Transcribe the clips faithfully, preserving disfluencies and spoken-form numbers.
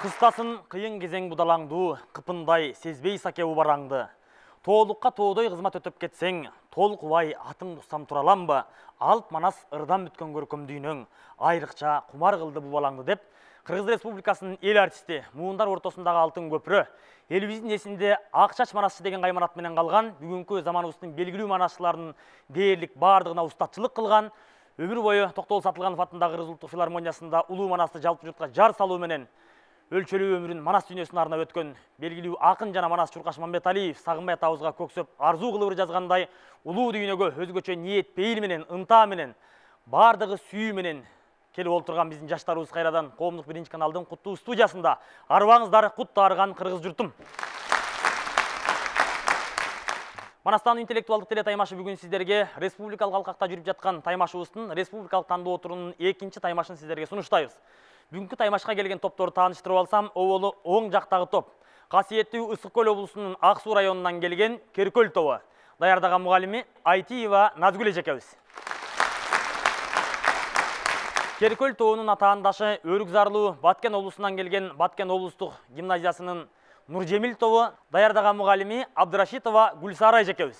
Кыстасын кыйын кезең будалаңды, кыпындай сезбей саке убараңды. Тоолукка тоодой кызмат өтөп кетсең, толкубай атың тусам тураламбы, алып манас ырдан бүткөн көркөмдүүнүң, айрыкча кумар кылды бу балаңды деп, Кыргыз Республикасынын эл артисти, муундар ортосундагы алтын көпүрө, элибиздин эсинде Акчач манасчы деген кайманат менен калган, бүгүнкү заманыбыздын белгилүү манасчыларынын дээрлик баардыгына устатчылык кылган, өмүр бою Токтогул Сатылганов атындагы Кыргыз Улуттук филармониясында улуу манасты жалпы журтка жар салуу менен өлчөлүү өмүрүн манас дүйнөсүнө арнап өткөн белгилүү акын жана манас Чуркаш Мамбеталиев Сагынбай атабызга көксөп арзуу кылып жазгандай, улуу дүйнөгө өзгөчө ниет, пейил менен, ынта менен, баардыгы сүйүү менен келип олтурган биздин жаштарыбыз кайрадан Коомдук биринчи каналдын куттуу студиясында. Арыбаңыздар, кут таарыган кыргыз журтум. Манастан интеллектуалдык теле таймашы бүгүн сиздерге республикалык алкакта жүрүп жаткан таймашыбыздын республикалык тандоо турунун экинчи таймашын сиздерге сунуштайбыз. Бүгүнкү таймашка келген топторду тааныштырып алсам, оболу оң жактагы топ касиеттүү Ысык Көл облусунун Ак Суу районунан келген Керкөл тобу. Даярдаган мугалими Айтиева Назгүл эжекебиз. Керкөл тобунун атаандашы Өрүк Зарлуу Баткен облусунан келген Баткен облустук гимназиясынын Нуржемил тобу. Даярдаган мугалими Абдырашитова Гүлсара эжекебиз.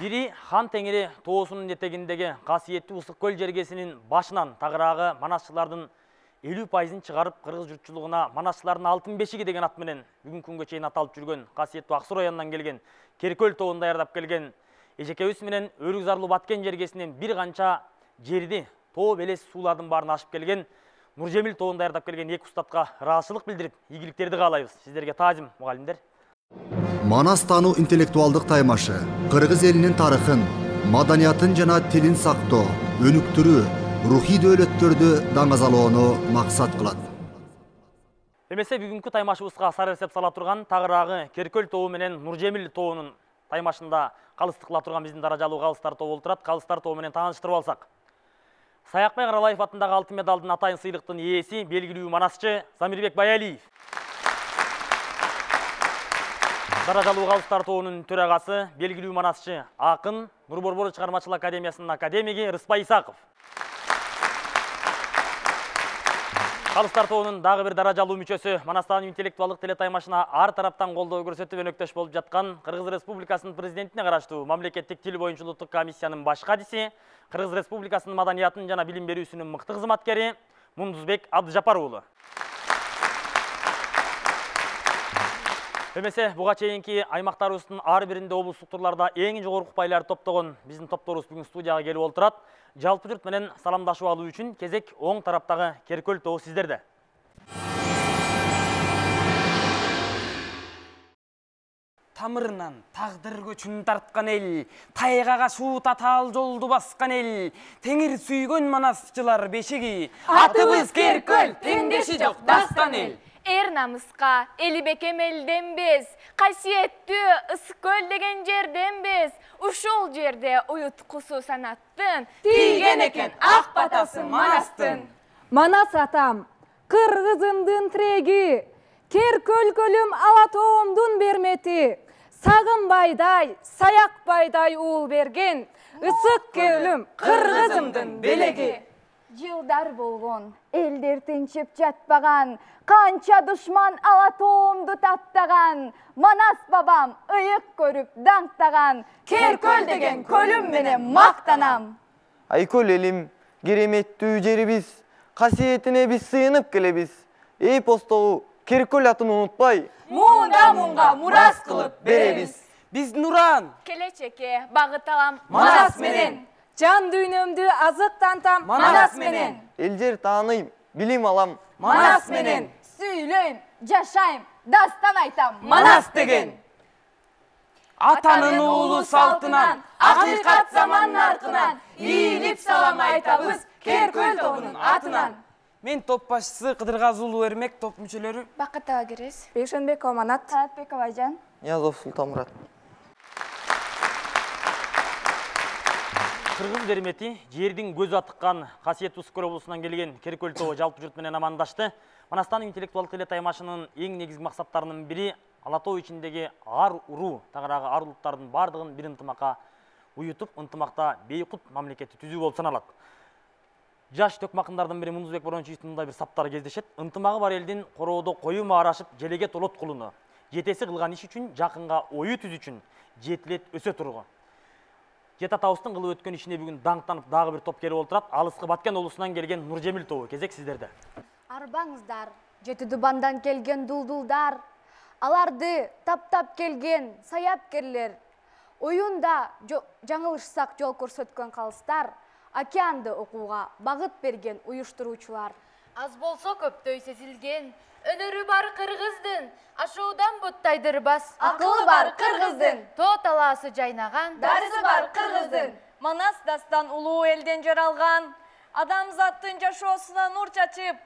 Бири Хан Теңири тоосунун этегиндеги касиеттүү Ысык Көл жергесинин башынан тагыраагы манасчылардын элүү пайызын чыгарып, кыргыз журтчулугуна манасчылардын алтын бешиги деген ат менен бүгүнкү күнгө чейин аталып жүргөн касиеттүү Ак Суу районунан келген Керкөл тобун даярдап келген эжекебиз менен Өрүк Зарлуу Баткен жергесинен бир канча жерди, тоо белес суулардын баарын ашып келген Нуржемил тобун даярдап келген эки устатка ыраазычылык билдирип, ийгиликтерди каалайбыз. Сиздерге таазим, мугалимдер. Манас таануу интеллектуалдык таймашы кыргыз элинин тарыхын, маданиятын жана тилин сактоо, өнүктүрүү, рухий дөөлөттөрдү даңазалоону максат кылат. Эмесе бүгүнкү таймашыбызга сары эсеп сала турган тагыраагы Керкөл тобу менен Нуржемил тобунун таймашында калысты кыла турган биздин даражалуу калыстар тобу олтурат. Калыстар тобу менен тааныштырып алсак. Саякбай Каралаев атындагы алтын медалдын атайын сыйлыктын ээси белгилүү манасчы Замирбек Баялиев. Даражалуу калыстар тобунун төрагасы белгилүү манасчы акын Нурборбор чыгармачылык академиясынын академиги Рыспай Исаков. Калыстар тобунун дагы бир даражалуу мүчөсү Манастан интеллектуалдык теле таймашына ар тараптан колдоо көрсөтүп өнөктөш болуп жаткан Кыргыз Республикасынын президентине караштуу мамлекеттик тил боюнча улуттук комиссиянын баш кадиси, Кыргыз Республикасынын маданиятын жана билим берүүсүнүн мыкты кызматкери Мундузбек Абдыжапар уулу. Эмесе буга чейинки аймактарыбыздын ар биринде облустук турларда эң жогорку упайларды топтогон биздин топторубуз бүгүн студияга келип олтурат. Жалпы журт менен саламдашып алуу үчүн кезек оң тараптагы Керкөл тобу сиздерде. Тамырынан тагдыр көчүн тарткан эл, тайгага суу татаал жолду баскан эл, теңир сүйгөн манасчылар бешиги, атыбыз Керкөл, теңдеши жок дастан эл. Эр намыска эли бекем элденбез, касиеттүү Ысык Көл деген жерденбез, ушул жерде уюткусу санаттын тийген экен ак батасы манастын. Манас атам, кыргызымдын тиреги, Керкөл көлүм ала тоомдун бермети, Сагынбайдай, Саякбайдай уул берген, Ысык Көлүм кыргызымдын белеги. Жылдар болгон, элдер тынчып жатпаган, канча душман ала тоомду таптаган, Манас бабам ыйык көрүп даңктаган, Керкөл деген көлүм менен мактанам. Айкөл элим, кереметтүү жерибиз, касиетине биз сыйынып келебиз. Эпостогу Керкөл атын унутпай, муунда муунга мурас кылып беребиз. Биз Нуран, келечекке багыт алам Манас менен. Жан дүйнөмдү азыктантам Манас менен. Эл жер тааныйм, билим алам Манас менен. Сүйлөйм, жашайм, дастан айтам Манас деген. Атанын уулу салтынан, акыйкат заман наркынан, ийилип салам айтабыз Керкөл тобунун атынан. Мен топ башчысы Кыдыргазы уулу Эрмек, топ мүчөлөрү Бакыт Абагерес, Бейшенбек Оманат, Таатбек Абайжан, Язов Султанмурат. Кыргыз дермети жердин көзү атыккан касиеттүү Ысык Көл облусунан келген Керкөл тобу жалпы журт менен амандашты. Манастан интеллектуалдык теле таймашынын эң негизги максаттарынын бири ала тоо ичиндеги ар уруу, тагыраагы ар улуттардын бардыгын бир ынтымакка уютуп, ынтымакта бейкут мамлекетти түзүү болуп саналат. Жаш төкмакындардын бири Мундузбек Борончиевичтин мындай бир саптары кездешет. Ынтымагы бар элдин короодо кою маарашып желеге толот кулуну. Жетеси кылган иш үчүн жакынга ою түз үчүн жетилет өсө тургу. Жет атабыздын кылып өткөн ишине бүгүн даңктанып дагы бир топ келип олтурат. Алыскы Баткен облусунан келген Нуржемил тобу. Кезек сиздерде. Арбаңыздар, Жети Дубандан келген дулдулдар, аларды таптап келген саяпкерлер, оюнда жаңылышсак жол көрсөткөн калыстар, океанды окууга багыт берген уюштуруучулар. Аз болсо көптөй сезилген, өнөрү бар кыргыздын, ашуудан буттайдырбас. Акылы бар кыргыздын, тоо талаасы жайнаган, дарысы бар кыргыздын. Манас дастан улуу элден жаралган, адамзаттын жашоосуна нур чачып,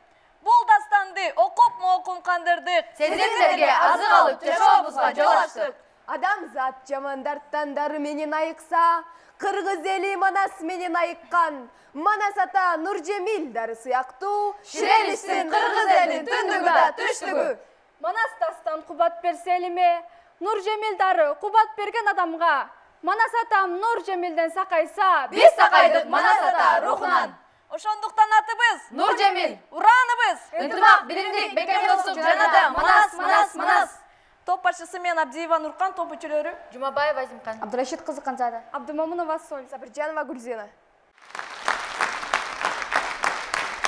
бул дастанды окуп моокум кандырдык. сезимдерге азык алып жашообузга жол ачтык. Адамзат жамандарттан дары менен айыкса, кыргыз эли Манас менен айыккан. Манас ата Нуржемил дары сыяктуу, ширелиштин кыргыз элин түндүгү да түштүгү. Манас дастан кубат берсе элиме, Нуржемил дары кубат берген адамга. Манас атам Нуржемилден сакайса, Биз сакайдык Манас ата рухунан. Ошондуктан атыбыз Нуржемил, урааныбыз. ынтымак, биримдик, бекем достук жанада Манас, Манас, Манас. Топ башчысы мен Абдиева Нуркан, топ мүчөлөрү Жумабаева Азимкан, Абдурашид кызы Канзада, Абдымомунова Соль, Сабиржанова Гүлзена.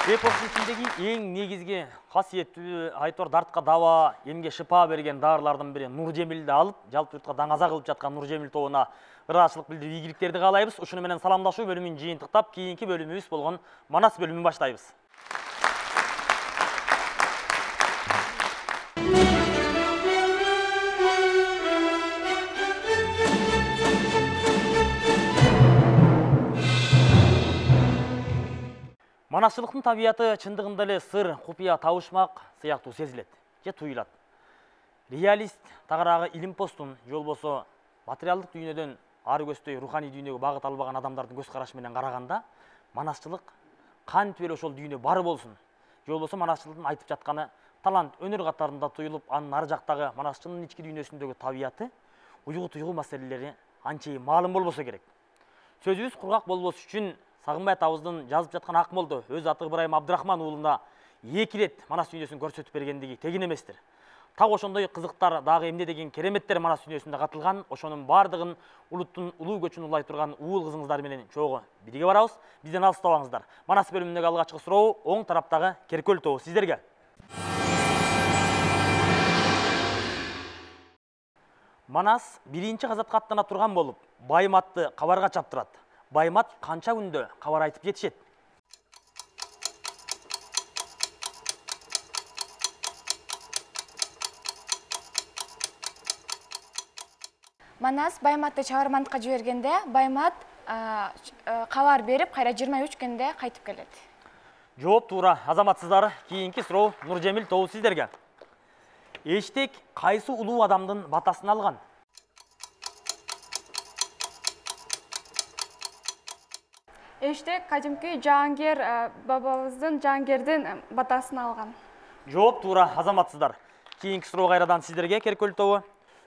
Эпостун ичиндеги эң негизги касиеттүү айтор дартка даба, эмге шыпа берген дарылардын бири Нуржемилди алып, жалпы журтка даңаза кылып жаткан Нуржемил тобуна ыраачылык билдирип ийгиликтерди каалайбыз. Ушуну менен саламдашуу бөлүмүн жыйынтыктап, кийинки бөлүмүбүз болгон Манас бөлүмүн баштайбыз. Манасчылыктын табияты чындыгында эле сыр, купуя, табышмак сыяктуу сезилет же туюлат. Реалист тагыраагы илим постун, же болбосо материалдык дүйнөдөн ары көздөй руханий дүйнөгө багыт албаган адамдардын көз карашы менен караганда, манасчылык кантип эле ошол дүйнө бар болсун, же болбосо манасчылыктын айтып жатканы талант, өнөр катарында туюлуп, анын ары жактагы манасчынын ички дүйнөсүндөгү табияты, уйгу туйгу маселелери анчейин маалым болбосо керек. Сөзүбүз кургак болбош үчүн Сагынбай атабыздын жазып жаткан Акмолдо өз аты Ыбырайым Абдрахман уулуна эки рет Манас дүйнөсүн көрсөтүп бергендиги тегин эместир. Так ошондой кызыктар дагы эмне деген кереметтер Манас дүйнөсүндө катылган, ошонун бардыгын улуттун улуу көчүн улай турган уул кызыңыздар менен чогуу бирге барабыз. Бизден алыстабаңыздар. Манас бөлүмүндөгү алгачкы суроо оң тараптагы Керкөл тобу сиздерге. Манас биринчи казатка аттана турган болуп, Байматты кабарга чаптырат. Баймат канча күндө кабар айтып жетишет? Манас Байматты чабармандыкка жибергенде, Баймат кабар берип, кайра жыйырма үч күндө кайтып келет. Жооп туура, азаматсыздар. Кийинки суроо Нуржемил тобу сиздерге. Эштек кайсы улуу адамдын батасын алган? Эштек кадимки Жаангер бабабыздын Жаангердин батасын алган. Жооп туура, азаматсыздар. Кийинки суроо кайрадан сиздерге Керкөл тобу.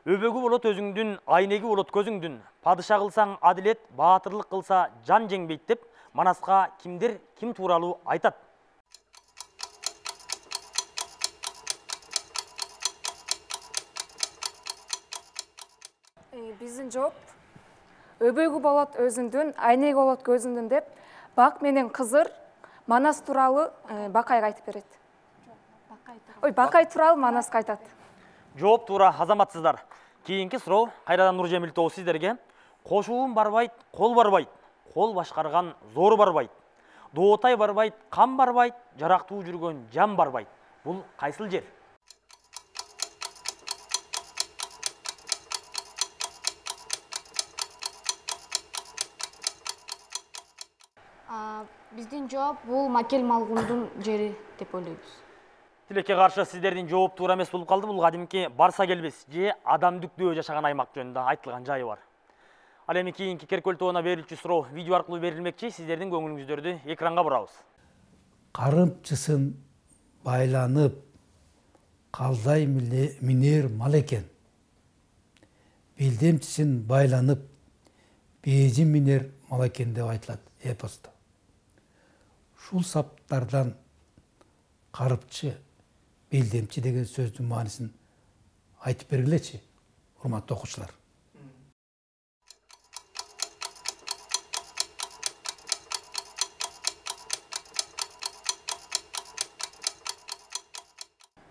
Өбөгү болот өзүңдүн, айнеги болот көзүңдүн. Падыша кылсаң адилет, баатырлык кылса жан жеңбейт деп Манаска кимдер ким тууралуу айтат? Биздин жооп өбөгү болот өзүңдүн, айнеги болот көзүңдүн деп Бак менен Кызыр Манас тууралуу Бакайга айтып берет. Ой, Бакай тууралуу Манаска айтат. Жооп туура, азаматсыздар. Кийинки суроо кайрадан Нуржемил тобу сиздерге. Кошуун барбайт, кол барбайт. Кол башкарган зор барбайт. Доотай барбайт, кам барбайт, жарактуу жүргөн жан барбайт. Бул кайсыл жер? Биздин жооп бул Макел Малгундун жери деп ойлойбуз. Тилекке каршы сиздердин жооп туура эмес болуп калды. Бул кадимки Барса келбес же адам дүктөө жашаган аймак жөнүндө айтылган жайы бар. Ал эми кийинки Керкөл тобуна берилчү суроо видео аркылуу берилмекчи. Сиздердин көңүлүңүздөрдү экранга бурабыз. Карымчысын байланып калдай минер мал экен. Билдемчисин байланып бежин минер мал экен деп айтылат эпосто. Ушул саптардан карыпчы, белдемчи деген сөздүн маанисин айтып бергилечи, урматтуу окуучулар.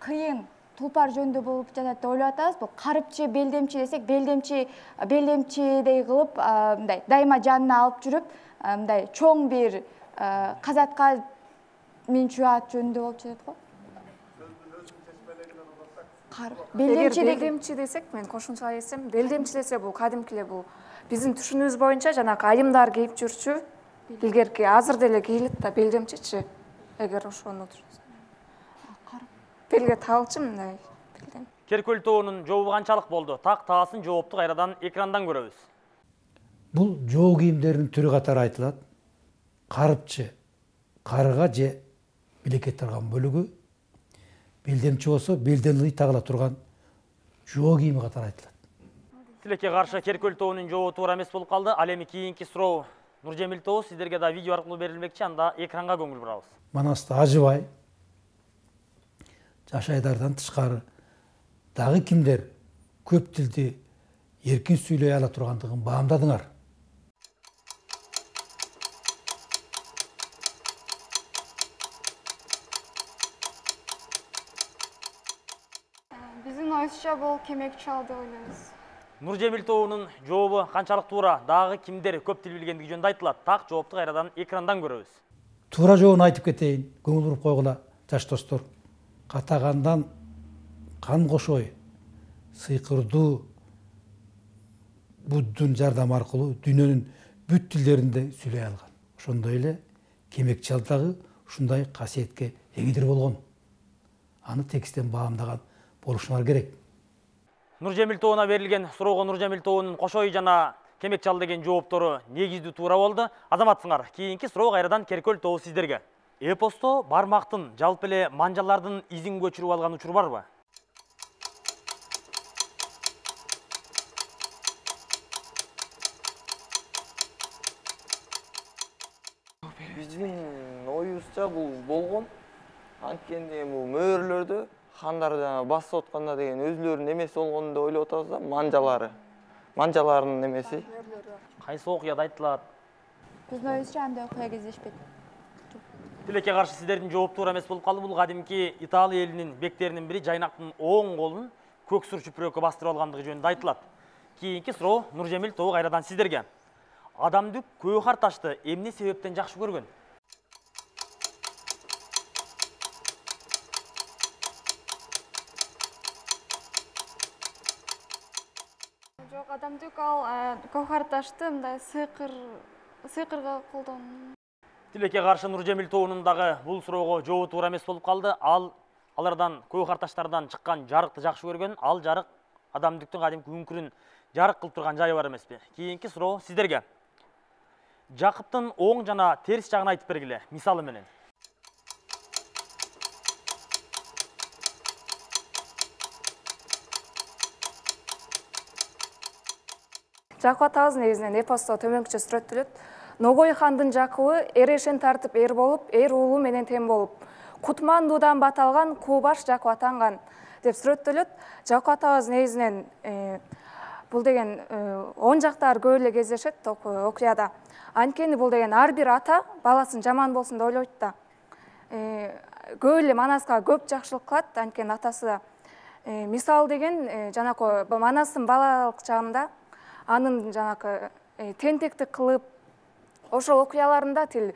Кыйын тулпар жөнүндө болуп жатат деп ойлоп атабыз. Бул карыпчы, белдемчи десек, белдемчи белдемчидей кылып, мындай дайыма жанына алып жүрүп, мындай чоң бир казатка минчүү ат жөнүндө болуп жатат го. Белдемчи белдемчи десек, мен кошумча айтсам, белдемчи десе бул кадимки эле бул биздин түшүнүүбүз боюнча жанагы айымдар кийип жүрчү, илгерки азыр деле кийилет да белдемчичи. Эгер ошону белге таалчы мындай. Керкөл тоонун жообу канчалык болду? Так таасын жоопту кайрадан экрандан көрөбүз. Бул жоо кийимдеринин түрү катары айтылат. Карыпчы, карыга же билекке тарган бөлүгү, белдемчи болсо белден ый тагыла турган жоо кийими катары айтылат. Тилекке каршы Керкөл тоонун жообу туура эмес болуп калды. Ал эми кийинки суроо Нуржемил тобу сиздерге да видео аркылуу берилмекчи, анда экранга көңүл бурабыз. Манаста Ажыбай, Жашайдардан тышкары дагы кимдер көп тилди эркин сүйлөй ала тургандыгын баамдадыңар. Биздин оюбузча бул кемек чал деп ойлойбуз. Нуржемил тобунун жообу канчалык туура? Дагы кимдер көп тил билгендиги жөнүндө айтылат. Так жоопту кайрадан экрандан көрөбүз. Туура жообун айтып кетейин, көңүл буруп койгула, жаш достор. Катагандан кан кошой, сыйкырдуу буддун жардамы аркылуу дүйнөнүн бүт тилдеринде сүйлөй алган. Ошондой эле кемек чал дагы ушундай касиетке эгидир болгон. Аны тексттен баамдаган болушуңар керек. Нуржемил тобуна берилген суроого Нуржемил тобунун кошой жана кемек чал деген жооптору негиздүү туура болду. Азаматсыңар, кийинки суроо кайрадан Керкөл тобу сиздерге. Эпосто бармактын, жалпы эле манжалардын изин көчүрүп алган учур барбы? Биздин оюбузча бул болгон. Анткени бул мөөрлөрдө хандар жана басып атканда деген өзүлөрүнүн эмеси болгон деп ойлоп атабыз да, манжалары. Манжаларынын эмеси. Кайсы окуяда айтылат? Биздин оюбузча андай окуя кездешпedi. Тилекке каршы сиздердин жооп туура эмес болуп калды. Бул кадимки Италия элинин бектеринин бири жайнактын оң колун көк сур чүпүрөккө бастырып алгандыгы жөнүндө айтылат. Кийинки суроо Нуржемил тобу кайрадан сиздерге. Адамдык көөхар ташты эмне себептен жакшы көргөн? Жок, адамдык ал көөхар ташты мындай сыйкыр сыйкырга колдон. Тилекке каршы Нуржемил тобунун дагы бул суроого жообу туура эмес болуп калды. Ал алардан көөхар таштардан чыккан жарыкты жакшы көргөн. Ал жарык адамдыктын кадимки үңкүрүн жарык кылып турган жайы бар эмеспи? Кийинки суроо сиздерге. Жакыптын оң жана терс жагын айтып бергиле, мисалы менен. Жакып атабыз негизинен эпосто төмөнкүчө сүрөттөлөт. Ногой хандын Жакыбы эрешен тартып эр болуп, эр уулу менен тең болуп, Кутмандуудан баталган Кубаш Жакып атанган деп сүрөттөлөт. Жакып атабыз негизинен бул деген он жактар көп эле кездешет окуяда. Анткени бул деген ар бир ата баласын жаман болсун деп ойлойт да. Көп эле Манаска көп жакшылык кылат, анткени атасы да. Мисал деген жанакы Манастын балалык чагында анын жанакы тентектик кылып, ошол окуяларында тил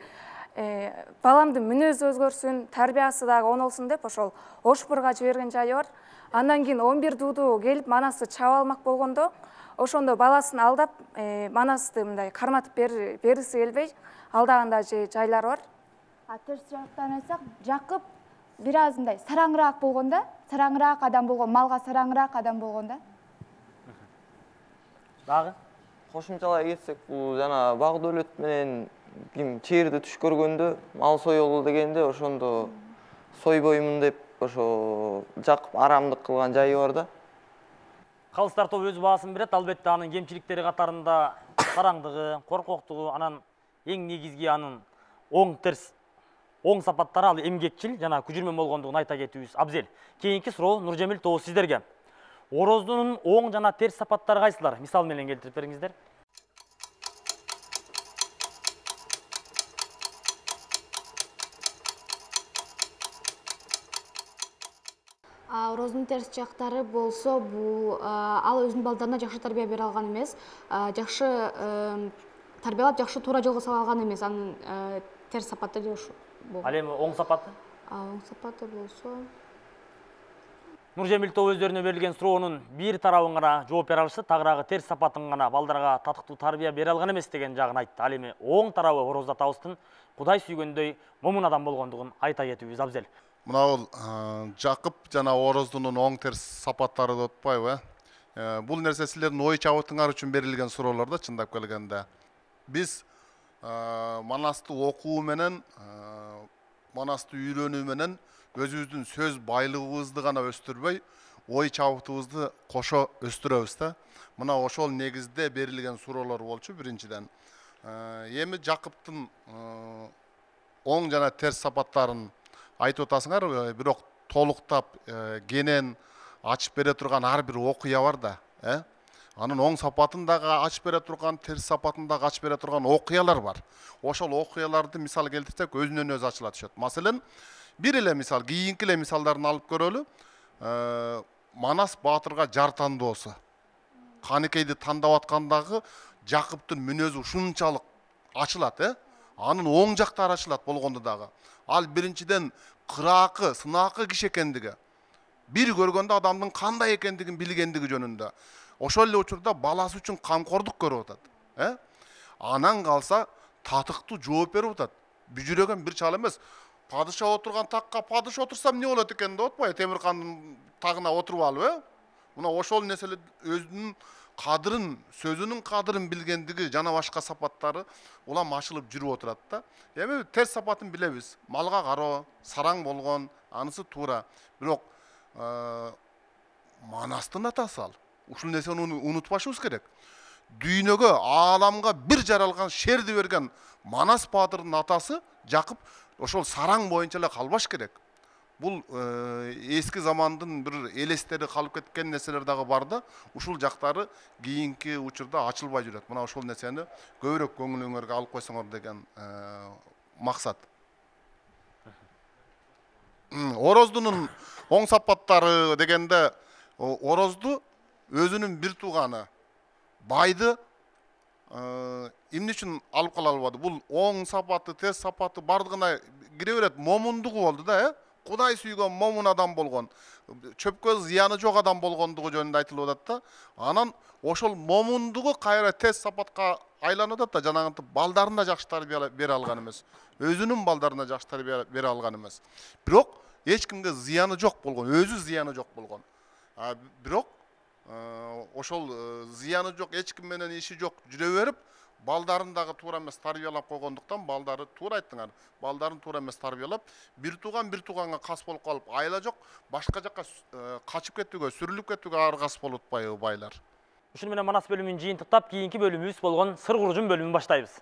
баламдын мүнөзү өзгөрсүн, тарбиясы дагы оңолсун деп ошол Ошбурга жиберген жайы бар. Андан кийин он бир дууду келип Манасты чаап алмак болгондо, ошондо баласын алдап Манасты мындай карматып бериси келбей алдаган да жайлар бар. А терс жактан айтсак, Жакып бир аз мындай сараңыраак болгон да, сараңыраак адам болгон, малга сараңыраак адам болгон да. Дагы кошумчалай кетсек, бул жана баг дөлөт менен ким чээрди түш көргөндө мал соёлу дегенде ошондо сойбоймун деп ошо Жакып арамдык кылган жайы бар да. Калыстар тобу өз баасын берет. Албетте анын кемчиликтери катарында сараңдыгы, коркоктугу, анан эң негизги анын оң терс оң сапаттары ал эмгекчил жана күжүрмөн болгондугун айта кетүүбүз абзел. Кийинки суроо Нуржемил тобу сиздерге. Ороздунун оң жана терс сапаттары кайсылар? Мисал менен келтирип бериңиздер. Ороздун терс жактары болсо, бул ал өзүнүн балдарына жакшы тарбия бере алган эмес, жакшы тарбиялап, жакшы туура жолго сала алган эмес. Анын терс сапаты деп ушу. Ал эми оң сапаты? Оң сапаты болсо, Нуржемил тобу өздөрүнө берилген суроонун бир тарабын гана жооп бере алышты, тагыраагы терс сапатын гана балдарга татыктуу тарбия бере алган эмес деген жагын айтты. Ал эми оң тарабы Ороз атабыздын Кудай сүйгөндөй момун адам болгондугун айта кетүүбүз абзел. Мына бул Жакып жана Ороздунун оң терс сапаттары деп атпайбы? Бул нерсе силердин ой чабытыңар үчүн берилген суроолор да, чындап келгенде. Биз Манасты окуу менен, Манасты үйрөнүү менен өзүбүздүн сөз байлыгыбызды гана өстүрбөй, ой чабытыбызды кошо өстүрөбүз да. Мына ошол негизде берилген суроолор болчу биринчиден. Эми Жакыптын оң жана терс сапаттарын айтып атасыңар, бирок толуктап кенен ачып бере турган ар бир окуя бар да, э? Анын оң сапатын дагы ачып бере турган, терс сапатын дагы ачып бере турган окуялар бар. Ошол окуяларды мисал келтирсек, өзүнөн өзү ачыла түшөт. Маселен, бир эле мисал, кийинки эле мисалдарын алып көрөлү. Манас баатырга жар тандоосу. Каныкейди тандап аткандагы Жакыптын мүнөзү ушунчалык ачылат, э? Анын оң жактары ачылат болгондо дагы. Ал биринчиден кыраакы, сынаакы киши экендиги, бир көргөндө адамдын кандай экендигин билгендиги жөнүндө. Ошол эле учурда баласы үчүн камкордук көрүп атат, э? Анан калса татыктуу жооп берип атат. Бүжүрөгөн бир чал эмес. Падыша отурган такка падыша отурсам эмне болот экен деп атпайбы? Темиркандын тагына отуруп алып, э? Мына ошол нерселер өзүнүн кадырын, сөзүнүн кадырын билгендиги жана башка сапаттары улам ачылып жүрүп отурат да. Эми терс сапатын билебиз. Малга кароо, сараң болгон, анысы туура. Бирок Манастын атасы ал. Ушул нерсени унутпашыбыз керек. Дүйнөгө, ааламга бир жаралган шерди берген Манас баатырдын атасы Жакып ошол сараң боюнча эле калбаш керек. Бул эски замандын бир элестери калып кеткен нерселер дагы бар да, ушул жактары кийинки учурда ачылбай жүрөт. Мына ошол нерсени көбүрөөк көңүлүңөргө алып койсоңор деген максат. Ороздунун оң сапаттары дегенде, Орозду өзүнүн бир тууганы байды эмне үчүн алып кала албады? Бул оң сапаты, терс сапаты бардыгына кире берет, момундугу болду да, э? Кудай сүйгөн момун адам болгон, чөпкө зыяны жок адам болгондугу жөнүндө айтылып атат да. Анан ошол момундугу кайра терс сапатка айланып атат да, жанагынтип балдарына жакшы тарбия бере алган эмес. Өзүнүн балдарына жакшы тарбия бере алган эмес. Бирок эч кимге зыяны жок болгон, өзү зыяны жок болгон. Бирок ошол зыяны жок, эч ким менен иши жок жүрө берип, балдарын дагы туура эмес тарбиялап койгондуктан балдары туура айттыңар. Балдарын туура эмес тарбиялап, бир тууган бир тууганга кас болуп калып, айла жок, башка жакка качып кетүүгө, сүрүлүп кетүүгө аргас болуп атпайбы байлар. Ушуну менен Манас бөлүмүн жыйынтыктап, кийинки бөлүмүбүз болгон сыр куружун бөлүмүн баштайбыз.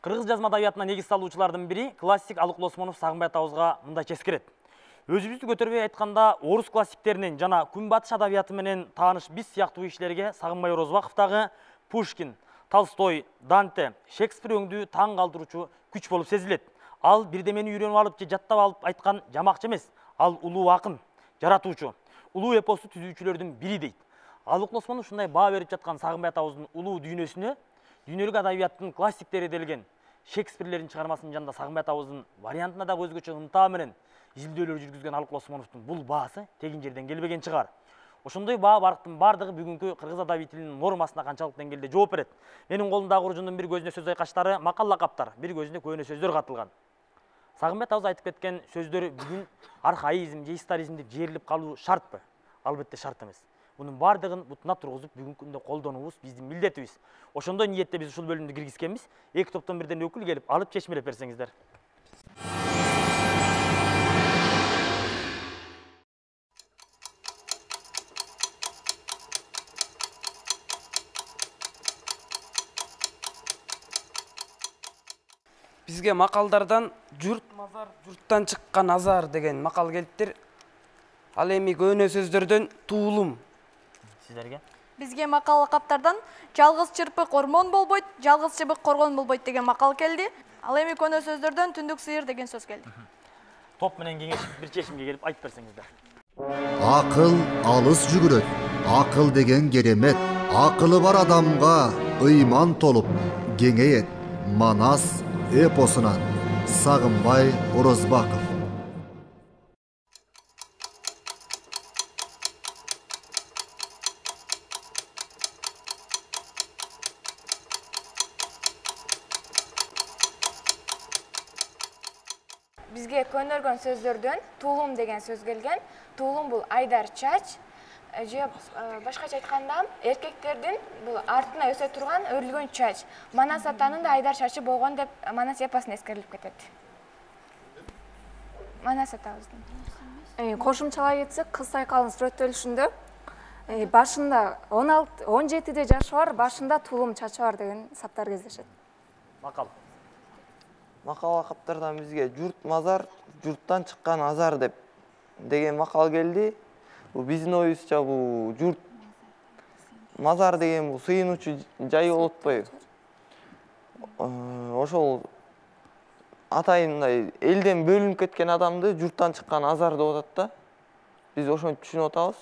Кыргыз жазма адабиятына негиз салуучулардын бири классик Алыкул Осмонов Сагынбай атабызга мындай ческирет. Өзүбүздү көтөрбөй айтканда, орус классиктеринин жана күнбатыш адабияты менен тааныш биз сыяктуу кишилерге Сагынбай Орозбаковдагы Пушкин, Толстой, Данте, Шекспир өңдүү таң калтыруучу күч болуп сезилет. Ал бирдемени үйрөнүп алып же жаттап алып айткан жамакчы эмес, ал улуу акын, жаратуучу, улуу эпосту түзүүчүлөрдүн бири дейт. Алыкул Осмонов ушундай баа берип жаткан Сагынбай атабыздын улуу дүйнөсүнө дүйнөлүк адабияттын классиктери делген Шекспирлердин чыгармасынын жанында Сагынбай атабыздын вариантына да өзгөчө ынтаа менен изилдөөлөр жүргүзгөн Алыкул Осмоновдун бул баасы тегин жерден келбеген чыгар. Ошондой баа барктын бардыгы бүгүнкү кыргыз адабий тилинин нормасына канчалык деңгээлде жооп берет. Менин колумдагы куружундун бир көзүнө сөз айкаштары, макал лакаптар, бир көзүнө көөнө сөздөр катылган. Сагынбай атабыз айтып кеткен сөздөр бүгүн архаизм же историзм деп жерилип калуу шартпы? Албетте шарт эмес. Bunun bardığın butuna turguzup бүгүнкү күндө колдонуубуз биздин милдетибиз. Ошондой ниетте биз ушул бөлүмдү киргизкенбиз. Эки топтон бирден өкүл келип алып чечмелеп берсеңиздер. Бизге макалдардан журт мазар, журттан чыккан азар деген макал келиптир. Ал эми көөнө сөздөрдөн туулум. Сиздерге? Бизге макал лакаптардан жалгыз чырпык ормон болбойт, жалгыз чыбык коргон болбойт деген макал келди. Ал эми көөнө сөздөрдөн түндүк сыйыр деген сөз келди. Топ менен кеңешип бир чечимге келип айтып берсеңиздер. Акыл алыс жүгүрөт. Акыл деген керемет. Акылы бар адамга ыйман толуп кеңейет. Манас эпосунан Сагынбай Орозбаков. Бизге көнөргөн сөздөрдөн туулум деген сөз келген. Туулум бул айдар чач, же башкача айтканда эркектердин бул артына өсө турган өрүлгөн чач. Манас атанын да айдар чачы болгон деп Манас эпосунда эскерилип кетет. Манас атабыздын. Кошумчалай кетсек, кыз сайкалынын сүрөттөлүшүндө башында он алты он жетиде жашы бар, башында туулум чачы бар деген саптар кездешет. Макал. Макал лакаптардан бизге журт мазар, журттан чыккан азар деп деген макал келди. Бул биздин оюбузча бул журт мазар деген бул сыйынуучу жай болуп атпайбы? Ошол атайындай элден бөлүнүп кеткен адамды журттан чыккан азар деп атат да. Биз ошентип түшүнүп атабыз.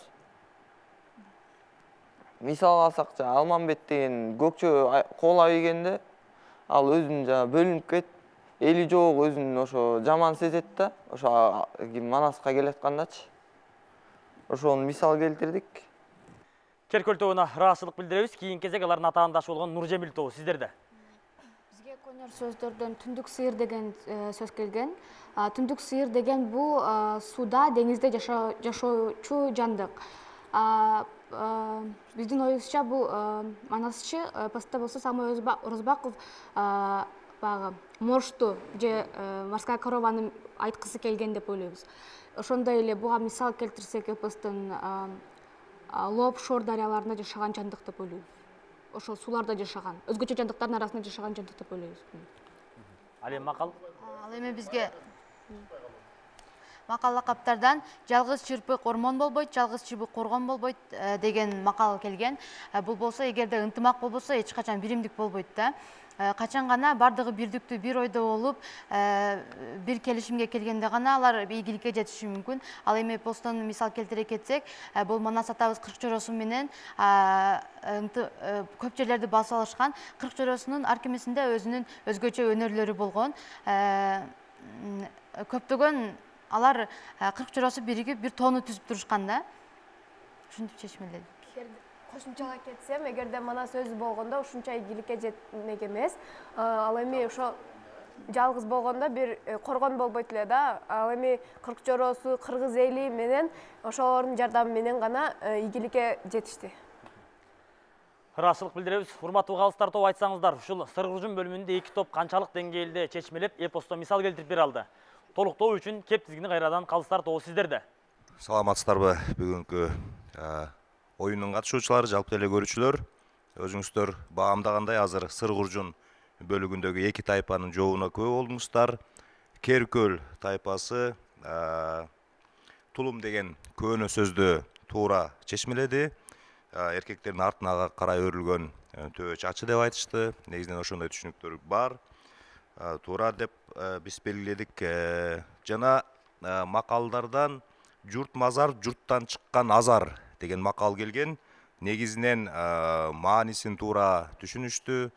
Мисал алсак, Алмамбет деген көкчө кол айгенде ал өзүн жана бөлүнүп кетип, эли жок өзүн ошо жаман сезет да, ошо Манаска келаткандачы. Ошону мисал келтирдик. Керкөл тобуна ыраазычылык билдиребиз. Кийинки кезек алардын атаандашы болгон Нуржемил тобу сиздерде. Бизге көнөр сөздөрдөн түндүк сыйыр деген сөз келген. Түндүк сыйыр деген бул сууда, деңизде жашоочу жандык. Биздин оюбузча бул манасчы эпоста болсо Сагынбай Орозбаков баягы мошту же морская корованы айткысы келген деп ойлойбуз. Ошондой эле буга мисал келтирсек, эпостун Лоп-Шор дарыяларында жашаган жандык деп ойлойбуз. Ошол сууларда жашаган, өзгөчө жандыктардын арасында жашаган жандык деп ойлойбуз. Ал эми макал? Ал эми бизге макал лакаптардан жалгыз чырпык ормон болбойт, жалгыз чыбык коргон болбойт деген макал келген. Бул болсо, эгерде ынтымак болбосо, эч качан биримдик болбойт да. Качан гана бардыгы бирдиктүү, бир ойдо болуп, бир келишимге келгенде гана алар ийгиликке жетиши мүмкүн. Ал эми эпостон мисал келтире кетсек, бул Манас атабыз кырк чоросу менен көп жерлерди басып алышкан. кырк чоросунун ар кимисинде өзүнүн өзгөчө өнөрлөрү болгон. Көптөгөн алар кырк чоросу биригип бир тоону түзүп турушкан да. Ушинтип чечмеледик. Кошумчалай кетсем, эгерде Манас өзү болгондо ушунча ийгиликке жетмек эмес. Ал эми ошо жалгыз болгондо бир коргон болбойт эле да. Ал эми кырк чоросу, кыргыз эли менен ошолордун жардамы менен гана ийгиликке жетишти. Ыраазычылык билдиребиз. Урматтуу калыстар тобу, айтсаңыздар, ушул Сыргыржун бөлүмүндө эки топ канчалык деңгээлде чечмелеп, эпосто мисал келтирип бере алды. Толуктоо үчүн кеп тизгини кайрадан калыстар тобу сиздерде. Саламатсыздарбы бүгүнкү оюндун катышуучулары, жалпы эле көрүүчүлөр. Өзүңүздөр баамдагандай азыр Сыргыржун бөлүгүндөгү эки тайпанын жообуна күбө болдуңуздар. Керкөл тайпасы тулум деген көөнө сөздү туура чечмеледи. Эркектердин артына карай өрүлгөн төбө чачы деп айтышты. Негизинен ошондой түшүнүктөр бар. Туура деп биз белгиледик. Жана макалдардан журт мазар, журттан чыккан азар деген макал келген. Негизинен маанисин туура түшүнүштү.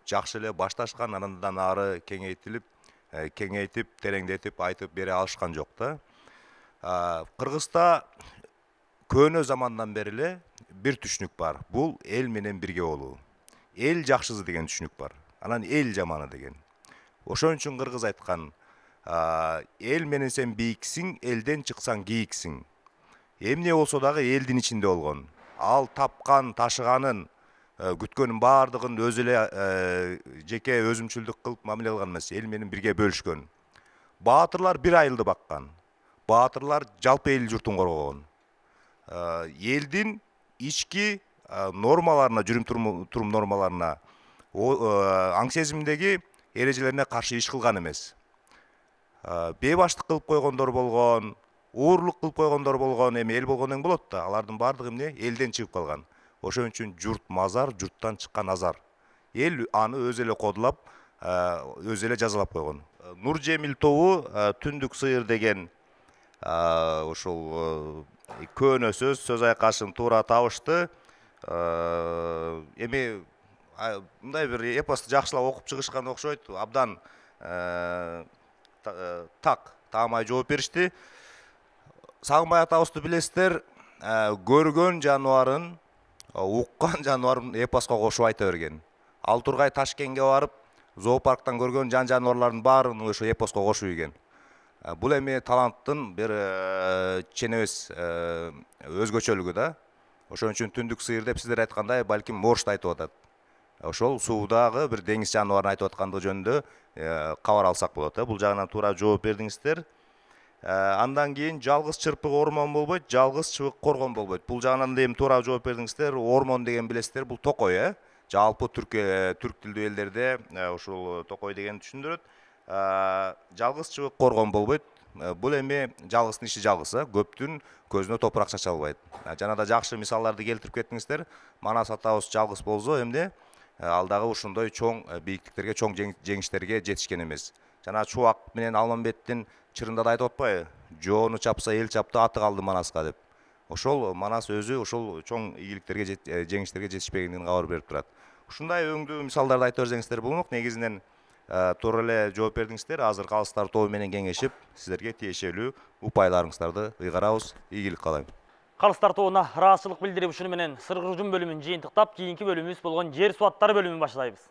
Жакшы эле башташкан, андан ары кеңейтилип, кеңейтип, тереңдетип айтып бере алышкан жок да. Кыргызда көөнө замандан бери эле бир түшүнүк бар. Бул эл менен бирге болуу. Эл жакшысы деген түшүнүк бар. Анан эл жаманы деген. Ошон үчүн кыргыз айткан, эл менен сен бийиксиң, элден чыксаң кийиксиң. Эмне болсо дагы элдин ичинде болгон. Ал тапкан, ташыганын, күткөнүн баардыгын өзү эле жеке өзүмчүлдүк кылып мамиле кылган эмес, эл менен бирге бөлүшкөн. Баатырлар бир айылды баккан. Баатырлар жалпы эл журтун коргогон. Элдин ички нормаларына, жүрүм турум нормаларына, аң сезимдеги эрежелерине каршы иш кылган эмес. Бейбаштык кылып койгондор болгон, уурлук кылып койгондор болгон, эми эл болгондон болот да, алардын баардыгы эмне элден чыгып калган. Ошон үчүн журт мазар, журттан чыккан азар. Эл аны өзү эле кодулап, өзү эле жазалап койгон. Нуржемил тобу Түндүк сыйыр деген ушул көөнө сөз, сөз айкашын туура табышты. Эми мындай бир эпосту жакшылап окуп чыгышкан окшойт. Абдан так, таамай жооп беришти. Сагынбай атабызды билесиздер, көргөн жаныбарын, уккан жаныбарын эпоско кошуп айта берген. Ал Тургай Ташкентке барып, зоопарктан көргөн жан жаныбарлардын баарын ошо эпоско кошуп ийген. Бул эми таланттын бир ченебес өзгөчөлүгү да. Ошон үчүн Түндүк сыйыр деп сиздер айткандай, балким моржду айтып атат. Ошол суудагы бир деңиз жаныбарын айтып аткандыгы жөнүндө кабар алсак болот. Бул жагынан туура жооп бердиңиздер. Андан кийин жалгыз чырпык ормон болбойт, жалгыз чыбык коргон болбойт. Бул жагынан да эми туура жооп бердиңиздер. Ормон деген билесиздер, бул токой, э? Жалпы түрк түрк тилдүү элдерде ушул токой деген түшүндүрөт. Жалгыз чыбык коргон болбойт. Бул эми жалгыздын иши жалгыз, көптүн көзүнө топурак чача албайт. Жана да жакшы мисалдарды келтирип кеттиңиздер. Манас атабыз жалгыз болсо эмне? Ал дагы ушундай чоң бийиктиктерге, чоң жеңиштерге жетишкен эмес. Жана Чубак менен Алмамбеттин чырында да айтып атпайбы? Жоону чапса эл чапты, аты калды Манаска деп. Ошол Манас өзү ошол чоң ийгиликтерге, жеңиштерге жетишпегендигин кабар берип турат. Ушундай өңдүү мисалдарды айтып берсеңиздер болмок. Негизинен туура эле жооп бердиңиздер. Азыр калыстар тобу менен кеңешип, сиздерге тиешелүү упайларыңыздарды ыйгарабыз. Ийгилик каалайм. Калыстар тобуна ыраазычылык билдирип, ушуну менен сыргыр жум бөлүмүн жыйынтыктап, кийинки бөлүмүбүз болгон жер суу аттары бөлүмүн баштайбыз.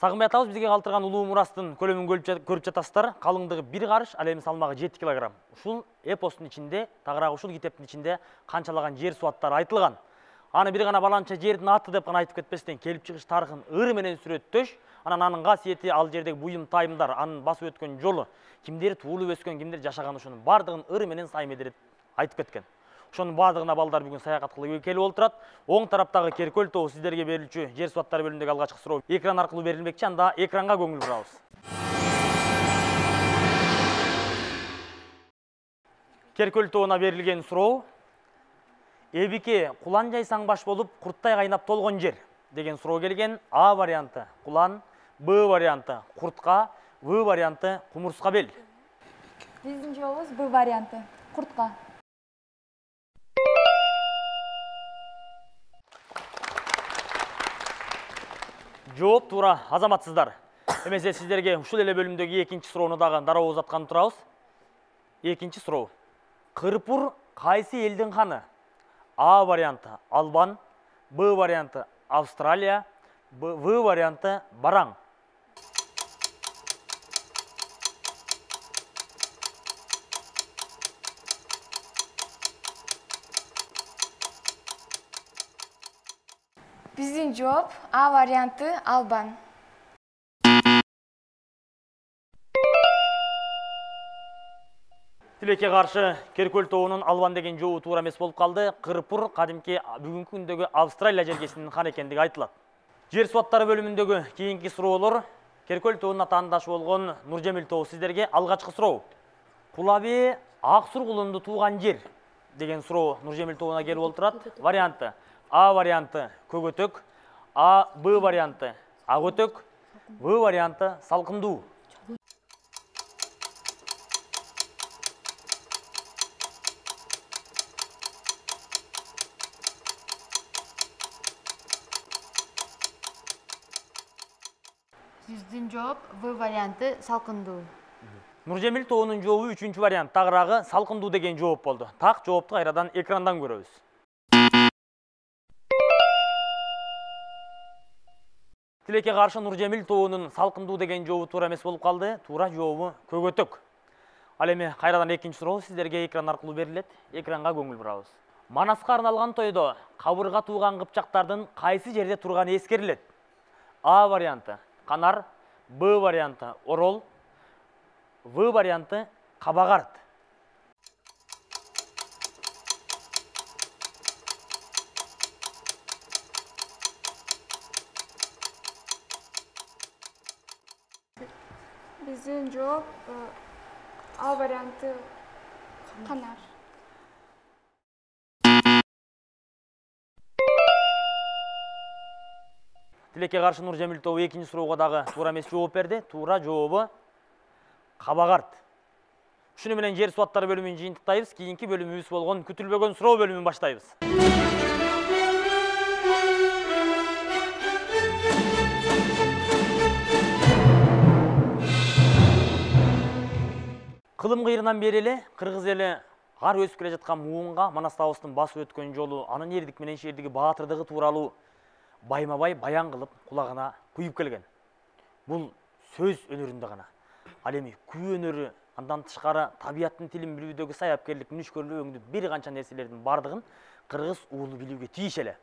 Сагынбай атабыз бизге калтырган улуу мурастын көлөмүн көрүп жатасыздар. Калыңдыгы бир карыш, ал эми салмагы жети килограмм. Ушул эпостун ичинде, тагыраак ушул китептин ичинде канчалаган жер суу аттары айтылган. Аны бир гана баланча жердин аты деп гана айтып кетпестен, келип чыгыш тарыхын ыр менен сүрөттөш, анан анын касиети, ал жердеги буюм тайымдар, анын басып өткөн жолу, кимдер туулуп өскөн, кимдер жашаган, ушунун бардыгын ыр менен сай медерет айтып кеткен. Ошонун бардыгына балдар бүгүн саякат кылып келип отурат. Оң тараптагы Керкөл тобу сиздерге берилчү жер суу аттары бөлүмүндөгү алгачкы суроо экран аркылуу берилмекчи. Анда экранга көңүл бурабыз. Керкөл тобуна берилген суроо: Эбике кулан жайсаң баш болуп, курттай кайнап толгон жер деген суроо келген. А варианты кулан, Б варианты куртка, В варианты кумурска бел. Биздин жообубуз Б варианты куртка. Жооп туура, азаматсыздар. Эмесе сиздерге ушул эле бөлүмдөгү экинчи суроону дагы дароо узаткан турабыз. Экинчи суроо: Кырпур кайсы элдин ханы? А варианты Албан, Б варианты Австралия, В варианты Бараң. Биздин жооп А варианты Албан. Тилекке каршы Керкөл тобунун Албан деген жообу туура эмес болуп калды. Кырпур кадимки бүгүнкү күндөгү Австралия жергесинин хан экендиги айтылат. Жер суу аттары бөлүмүндөгү кийинки суроолор Керкөл тобунун атаандашы болгон Нуржемил тобу сиздерге алгачкы суроо. Кулаби ак сургулунду тууган жер деген суроо Нуржемил тобуна келип отурат. Варианты: А варианты Көгөтөк, А Б варианты Агөтөк, В варианты Салкындуу. Биздин жооп В варианты Салкындуу. Нуржемил тобунун жообу үчүнчү вариант, тагыраагы Салкындуу деген жооп болду. Так жоопту кайрадан экрандан көрөбүз. Тилекке каршы Нуржемил тобунун Салкындуу деген жообу туура эмес болуп калды. Туура жообу Көгөтөк. Ал эми кайрадан экинчи суроо сиздерге экран аркылуу берилет. Экранга көңүл бурабыз. Манаска арналган тойдо кабырга тууган кыпчактардын кайсы жерде турганы эскерилет? А варианты Канар, Б варианты Орол, В варианты Кабагарт. менен жооп А варианты канар. Тилекке каршы Нуржемил тобу экинчи суроого дагы туура эмес жооп берди. Туура жообу кабагарт. Ушуну менен жер суаттары бөлүмүн жыйынтыктайбыз. Кийинки бөлүмүбүз болгон күтүлбөгөн суроо бөлүмүн баштайбыз. Кылым кыйрынан бери эле кыргыз эли ар өсүп келе жаткан муунга Манас табыстын басып өткөн жолу, анын эрдик менен шердиги баатырдыгы тууралуу байма-бай баян кылып кулагына куюп келген. Бул сөз өнөрүндө гана. Ал эми күү өнөрү, андан тышкары табияттын тилин билүүдөгү саяпкерлик, мүнүшкөрлүк өңдү бир канча нерселердин бардыгын кыргыз уулу билүүгө тийиш эле.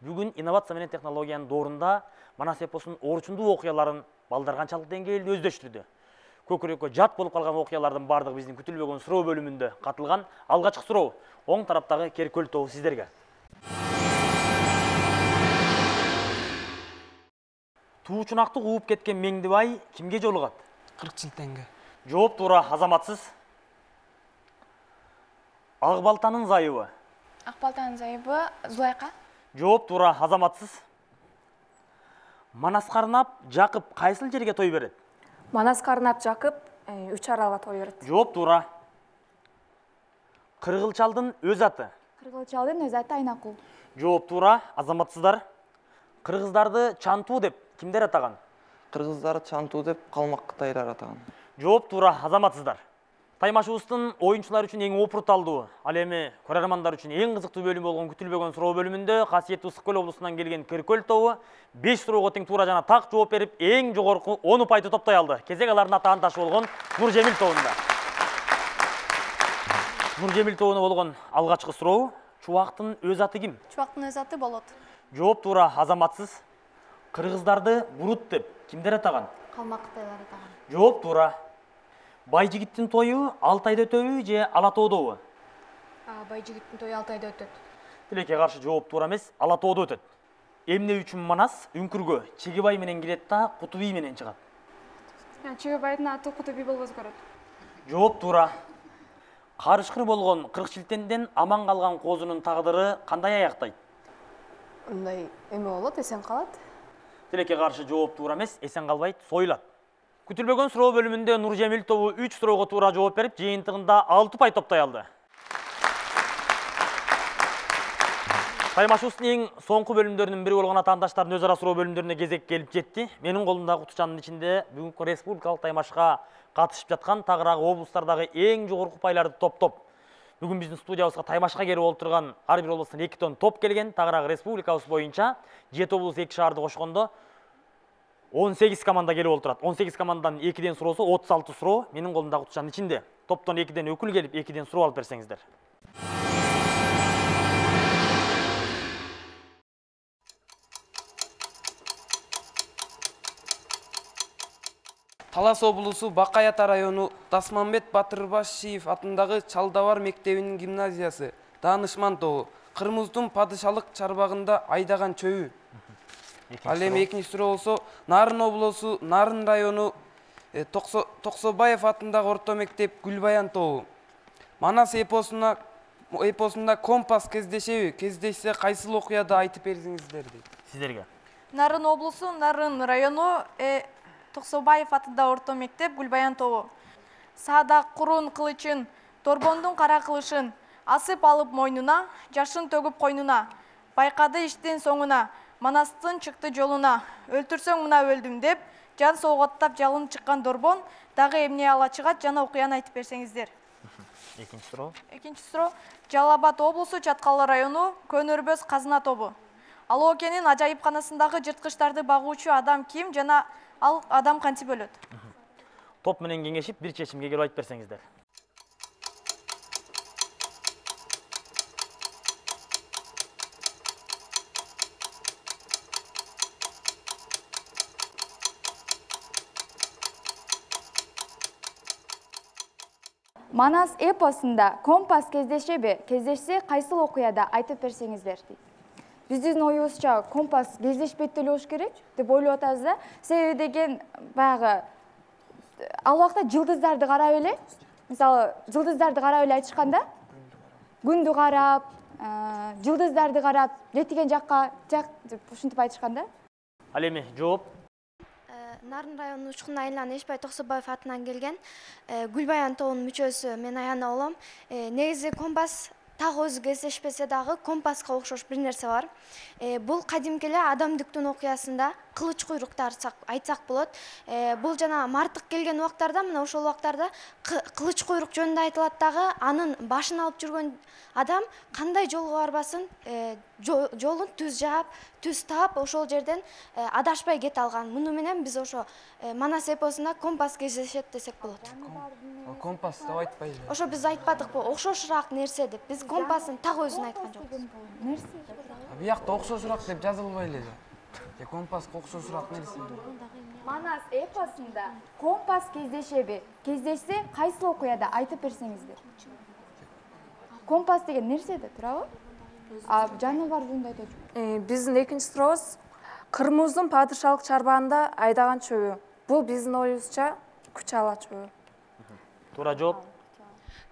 Бүгүн инновация менен технологиянын доорунда Манас эпосунун орчундуу окуяларын балдар канчалык деңгээлде өздөштүрдү. Көкүрөккө жат болуп калган окуялардын бардыгы биздин күтүлбөгөн суроо бөлүмүндө катылган. Алгачкы суроо оң тараптагы Керкөл тобу сиздерге. Туучунакты кууп кеткен Меңдибай кимге жолугат? Кыркчилтенге. Жооп туура, азаматсыз. Ак балтанын зайыбы? Ак балтанын зайыбы Зулайка. Жооп туура, азаматсыз. Манас Карнап Жакып кайсыл жерге той берет? Манас Карнап Жакып үч аралга той берет. Жооп туура. Кыргылчалдын өз аты? Кыргылчалдын өз аты Айнакул. Жооп туура, азаматсыздар. Кыргыздарды Чантуу деп кимдер атаган? Кыргыздар Чантуу деп калмак кытайлар атаган. Жооп туура, азаматсыздар. Таймашыбыздын оюнчулар үчүн эң опурталдуу, ал эми көрөрмандар үчүн эң кызыктуу бөлүм болгон күтүлбөгөн суроо бөлүмүндө касиеттүү Ысык Көл облусунан келген Керкөл тобу беш суроого тең туура жана так жооп берип, эң жогорку он упайды топтой алды. Кезек алардын атаандашы болгон Нуржемил тобунда. Нуржемил тобуна болгон алгачкы суроо: Чубактын өз аты ким? Чубактын өз аты Болот. Жооп туура, азаматсыз. Кыргыздарды Бурут деп кимдер атаган? Калмак кытайлар атаган. Жооп туура. Байжигиттин тою Алтайда өтөбү же Ала тоодобу? Байжигиттин тою Алтайда өтөт. Тилекке каршы жооп туура эмес, Ала тоодо өтөт. Эмне үчүн Манас үңкүргө Чегебай менен кирет да Куту бий менен чыгат? Чегебайдын аты Куту бий болбосо көрөт. Жооп туура. Карышкыр болгон Кыркчилтенден аман калган козунун тагдыры кандай аяктайт? Мындай эме болот, эсен калат. Тилекке каршы жооп туура эмес, эсен калбайт, союлат. Күтүлбөгөн суроо бөлүмүндө Нуржемил тобу үч суроого туура жооп берип, жыйынтыгында алты пай топтой алды. Таймашыбыздын эң соңку бөлүмдөрүнүн бири болгон атаандаштардын өз ара суроо бөлүмдөрүнө кезек келип жетти. Менин колумдагы кутучанын ичинде бүгүнкү республикалык таймашка катышып жаткан тагыраагы облустардагы эң жогорку пайларды топтоп, бүгүн биздин студиябызга таймашка келип олтурган ар бир облустан эки тонн топ келген. Тагыраагы республикабыз боюнча жети облус эки шаарды кошкондо он сегиз команда келип олтурат. он сегиз командадан экиден суроосу отуз алты суроо менин колумдагы кутучанын ичинде. Топтон экиден өкүл келип, экиден суроо алып берсеңиздер. Талас облусу Бакай Ата району Тасманбет Батырбашиев атындагы Чалдабар мектебинин гимназиясы, Даанышман тобу, Кырмыздын падышалык чарбагында айдаган чөйү. Ал эми экинчи суроо болсо, Нарын облусу Нарын району Токсобаев атындагы орто мектеп Гүлбаян тобу. Манас эпосуна эпосунда компас кездешеби? Кездешсе кайсыл окуяда айтып берсеңиздер дейт. Сиздерге. Нарын облусу Нарын району Токсобаев атында орто мектеп Гүлбаян тобу. Саада курун кылычын, Торбондун кара кылышын асып алып мойнуна, жашын төгүп койнуна, байкады иштин соңуна, Манастын чыкты жолуна, өлтүрсөң мына өлдүм деп, жан сооготтап жалын чыккан Дорбон дагы эмне ала чыгат жана окуяны айтып берсеңиздер. Экинчи суроо. Экинчи суроо Жалал Абад облусу Чаткалы району Көнөрбөз казына тобу. Ал окенин ажайыпканасындагы жырткычтарды багуучу адам ким жана ал адам кантип өлөт? Топ менен кеңешип бир чечимге келип айтып берсеңиздер. Манас эпосунда компас кездешеби? Кездешсе кайсыл окуяда айтып берсеңиздер дейт. Биздин оюбузча компас кездешпейт деле болуш керек деп ойлоп атабыз да. Себеби деген баягы ал убакта жылдыздарды карап эле, мисалы жылдыздарды карап эле айтышканда, күндү карап, жылдыздарды карап, жетиген жакка жак ушинтип айтышканда. Ал эми жооп. Нарын районунун учкун айылынан Эшбай Токсобаев атынан келген Гүлбаян тобунун мүчөсү мен Аяна болом. Негизи компас так өзү кездешпесе дагы компаска окшош бир нерсе бар. Бул кадимки эле адамдыктын окуясында кылыч куйруктар айтсак болот. Бул жана мартык келген убактарда, мына ошол убактарда кылыч куйрук жөнүндө айтылат дагы, анын башын алып жүргөн адам кандай жолго барбасын, жолун түз жаап, түз таап, ошол жерден адашпай кете алган. Муну менен биз ошо Манас эпосунда компас кездешет десек болот. Компас деп айтпайбы? Ошо биз айтпадыкпы, окшошураак нерсе деп. Биз компастын так өзүн айткан жокпуз. Нерсе? Биякта окшошураак деп жазылбай эле. Же компаска окшошураак нерсе. Манас эпосунда компас кездешеби? Кездешсе кайсы окуяда айтып берсеңиздер. Компас деген нерсе да турабы? А жаныбар жөнүндө айтачу. Биздин экинчи сурообуз Кырмыздын падышалык чарбагында айдаган чөбү. Бул биздин оюбузча күч ала чөбү. Туура жооп.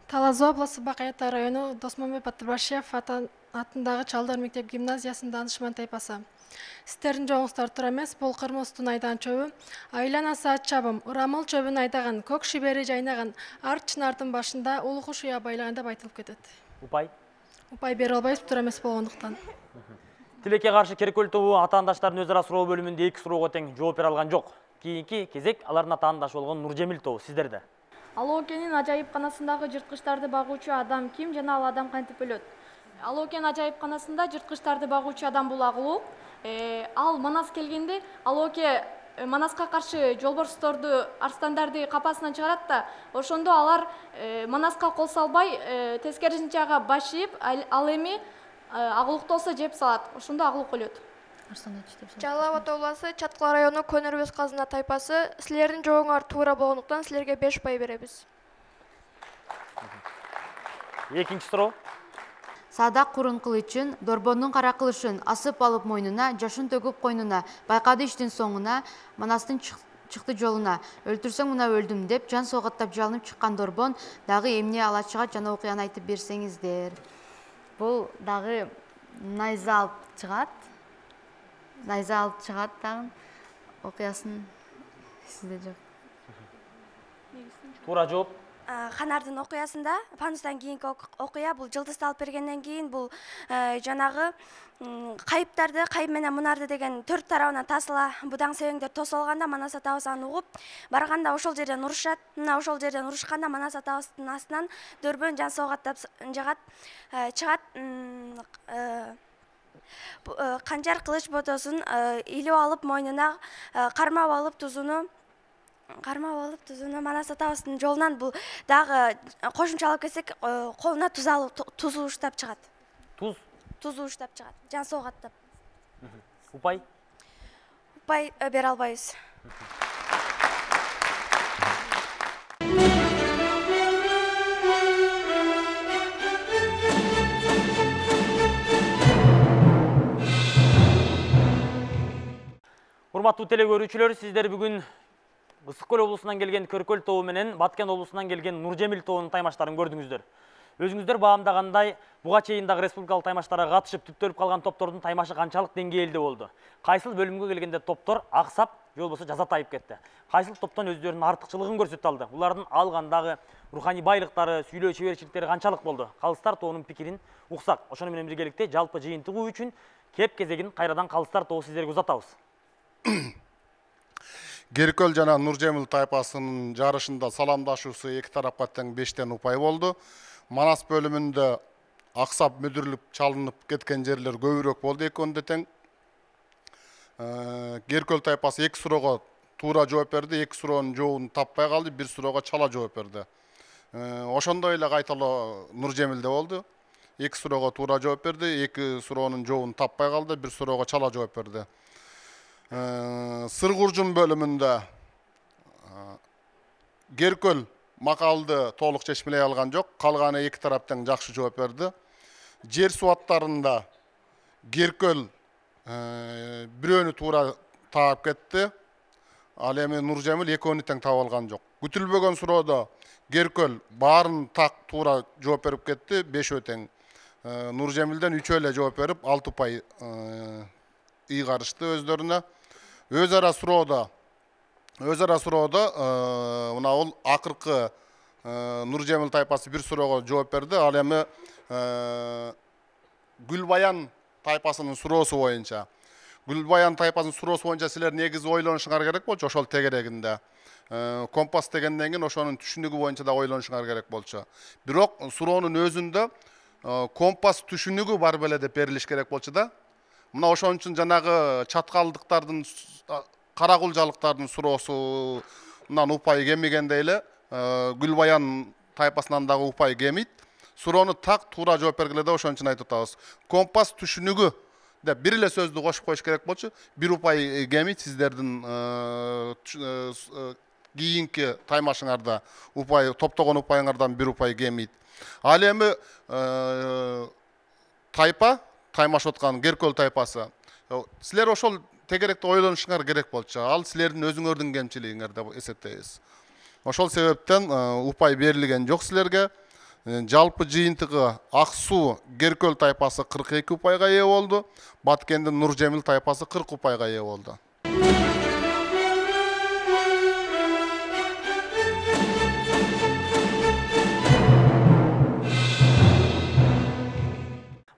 Талас областы Бакайата району Досмонбек Батырбашев атындагы Чалдар мектеп гимназиясынын данышман тайпасы. Сиздердин жоңуңуздар туура эмес, бул Кырмыздын айдаган чөбү. Айланасы ат чабым, Урамыл чөбүн айдаган, көк шибери жайнаган, арт чынардын башында улуу куш уя байлаган деп айтылып кетет. Упай. Упай бере албайбыз, туура эмес болгондуктан. Тилекке каршы Керкөл тобу атаандаштардын өзара суроо бөлүмүндө эки суроого тең жооп бере алган жок. Кийинки кезек алардын атаандашы болгон Нуржемил тобу сиздерде. Алоокенин ажайыпканасындагы жырткычтарды багуучу адам ким жана ал адам кантип өлөт? Алоокен ажайыпканасында жырткычтарды багуучу адам бул Агулуу. Ал Манас келгенде Алооке Манаска каршы жолборсторду, арстандарды капасынан чыгарат да, ошондо алар Манаска кол салбай, тескерисинче ага баш ийип, ал эми Агулукты болсо жеп салат. Ошондо Агулук өлөт. Жалал Абад областы Чаткал району Көнөрбөз казына тайпасы. Силердин жообуңар туура болгондуктан силерге беш пай беребиз. Экинчи суроо. Садак курун кылычын, дорбондун кара кылышын асып алып мойнуна, жашын төгүп койнуна, байкады иштин соңуна, Манастын чыкты жолуна. Өлтүрсөң мына өлдүм деп, жан согаттап жалынып чыккан дорбон дагы эмне ала чыгат жана окуяны айтып берсеңиздер. Бул дагы найза алып чыгат. Найза алып чыгат дагы. Окуясын сизде жок. Туура жооп. Ханардын окуясында Панустан кийинки окуя бул жылдызды алып бергенден кийин бул жанагы кайыптарды, кайып менен мунарды деген төрт тарабынан тасыла будаң себеңдер тосолганда Манас атабыз аны угуп барганда ошол жерден урушат. Мына ошол жерден урушканда Манас атабыздын астынан дөрбөн жан согаттап жагат, чыгат. Канжар кылыч ботосун илип алып мойнуна, кармап алып тузуну кармап алып тузуну Манас атабыздын жолунан бул дагы кошумчалап кетсек, колуна туз алып туз уштап чыгат. Туз? Туз уштап чыгат, жан согаттап. Упай? Упай бере албайбыз. Урматтуу теле көрүүчүлөр, сиздер бүгүн Ысык Көл облусунан келген Көркөл тобу менен Баткен облусунан келген Нуржемил тобунун таймаштарын көрдүңүздөр. Өзүңүздөр баамдагандай, буга чейин дагы республикалык таймаштарга катышып түптөлүп калган топтордун таймашы канчалык деңгээлде болду? Кайсыл бөлүмгө келгенде топтор аксап, же болбосо жазатайып кетти? Кайсыл топтон өздөрүнүн артыкчылыгын көрсөтө алды? Булардын алгандагы руханий байлыктары, сүйлөө чеберчиликтери канчалык болду? Калыстар тобунун пикирин уксак. Ошону менен биргеликте жалпы жыйынтыгуу үчүн кеп кезегин кайрадан Калыстар тобу сиздерге узатабыз. Керкөл жана Нуржемил тайпасынын жарышында саламдашуусу эки тарапка тең бештен упай болду. Манас бөлүмүндө аксап мүдүрүлүп чалынып кеткен жерлер көбүрөөк болду, экөөндө тең. Керкөл тайпасы эки суроого туура жооп берди, эки суроонун жообун таппай калды, бир суроого чала жооп берди. Ошондой эле кайталоо Нуржемилде болду. Эки суроого туура жооп берди, эки суроонун жообун таппай калды, бир суроого чала жооп берди. Сыргуржун бөлүмүндө Керкөл макалды толук чечмелей алган жок, калганы эки тараптан жакшы жооп берди. Жер суаттарында Керкөл бирөөнү туура таап кетти, ал эми Нуржемил экөөнү тең таап алган жок. күтүлбөгөн суроодо Керкөл баарын так туура жооп берип кетти, бешөө тең. Нуржемилден үчөө эле жооп берип, алты упай ыйгарышты өздөрүнө. Өз ара суроодо өз ара суроодо мына бул акыркы Нуржемил тайпасы бир суроого жооп берди. Ал эми Гүлбаян тайпасынын суроосу боюнча. Гүлбаян тайпасынын суроосу боюнча силер негизи ойлонушуңар керек болчу, ошол тегерегинде. Компас дегенден кийин ошонун түшүнүгү боюнча да ойлонушуңар керек болчу. Бирок суроонун өзүндө компас түшүнүгү бар беле деп берилиш керек болчу да. Мына ошон үчүн жанагы чаткалдыктардын, каракулжалыктардын суроосунан упай кемигендей эле Гүлбаян тайпасынан дагы упай кемийт. Суроону так туура жооп бергиле деп ошон үчүн айтып атабыз. Компас түшүнүгү деп бир эле сөздү кошуп коюш керек болчу. Бир упай кемийт сиздердин кийинки таймашыңарда упай, топтогон упайыңардан бир упай кемийт. Ал эми тайпа, таймашып аткан Керкөл тайпасы. Силер ошол тегеректе ойлонушуңар керек болчу. Ал силердин өзүңөрдүн кемчилигиңер деп эсептейбиз. Ошол себептен упай берилген жок силерге. Жалпы жыйынтыгы Ак Суу Керкөл тайпасы кырк эки упайга ээ болду. Баткендин Нуржемил тайпасы кырк упайга ээ болду.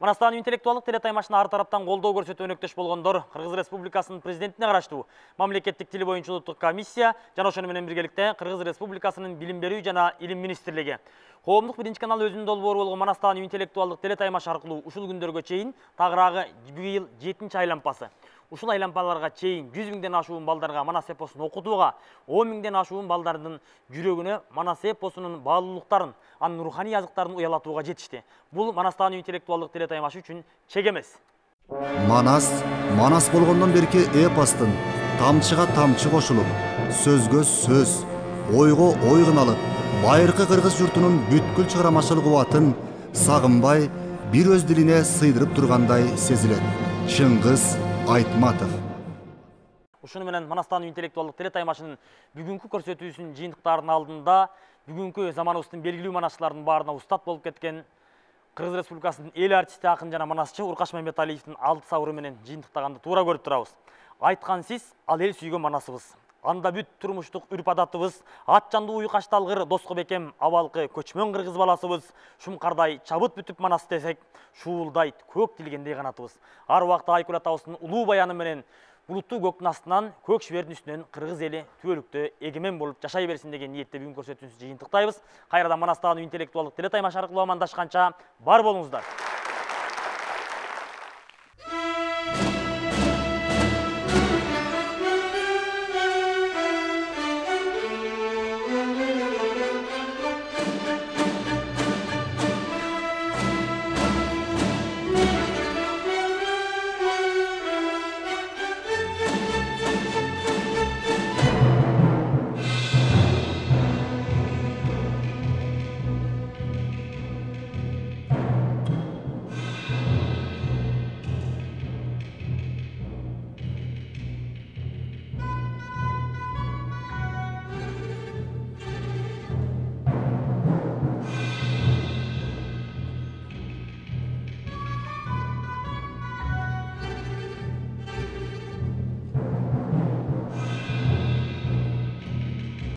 Манастан интеллектуалдык телетаймашына ар тараптан колдоо көрсөтүп өнөктөш болгондор Кыргыз Республикасынын президентине караштуу мамлекеттик тил боюнча улуттук комиссия жана ошону менен биргеликте Кыргыз Республикасынын билим берүү жана илим министрлиги. Коомдук биринчи канал өзүнүн долбоору болгон Манастан интеллектуалдык телетаймаш аркылуу ушул күндөргө чейин тагыраагы быйыл жетинчи айлампасы. Ушул айлампаларга чейин жүз миңден ашуун балдарга Манас эпосун окутууга, он миңден ашуун балдардын жүрөгүнө Манас эпосунун баалуулуктарын, анын руханий азыктарын уялатууга жетишти. Бул Манастан интеллектуалдык телетаймаш үчүн чек эмес. Манас, Манас болгондон берки эпостун тамчыга тамчы кошулуп, сөзгө сөз, ойго ой кыналып, байыркы кыргыз журтунун бүткүл чыгарамачыл кубатын сагынбай, бир өз дилине сыйдырып тургандай сезилет. Чыңгыз Айтматов. Ушуну менен Манастан интеллектуалдык телетаймашынын бүгүнкү көрсөтүүсүнүн жыйынтыктарынын алдында бүгүнкү заманыбыздын белгилүү манасчылардын баарына устат болуп кеткен Кыргыз Республикасынын эл артисти, акын жана манасчы Уркаш Мамбеталиевдин алты сабыры менен жыйынтыктаганды туура көрүп турабыз. Айткан сиз ал эл сүйгөн манасыбыз. Анда бүт турмуштук үрп адатыбыз, ат жанды уйкаш талгыр доско бекем абалкы көчмөн кыргыз баласыбыз, шумкардай чабыт бүтүп манас десек, шуулдайт көк тилгендей канатыбыз. Ар убакта Айкүл атабыздын улуу баяны менен булуттуу көктүн астынан, көк шибердин үстүнөн кыргыз эли түбөлүктө эгемен болуп жашай берсин деген ниетте бүгүн көрсөтүүнүбүздү жыйынтыктайбыз. Кайрадан Манастан интеллектуалдык телетаймаш аркылуу амандашканча бар болуңуздар.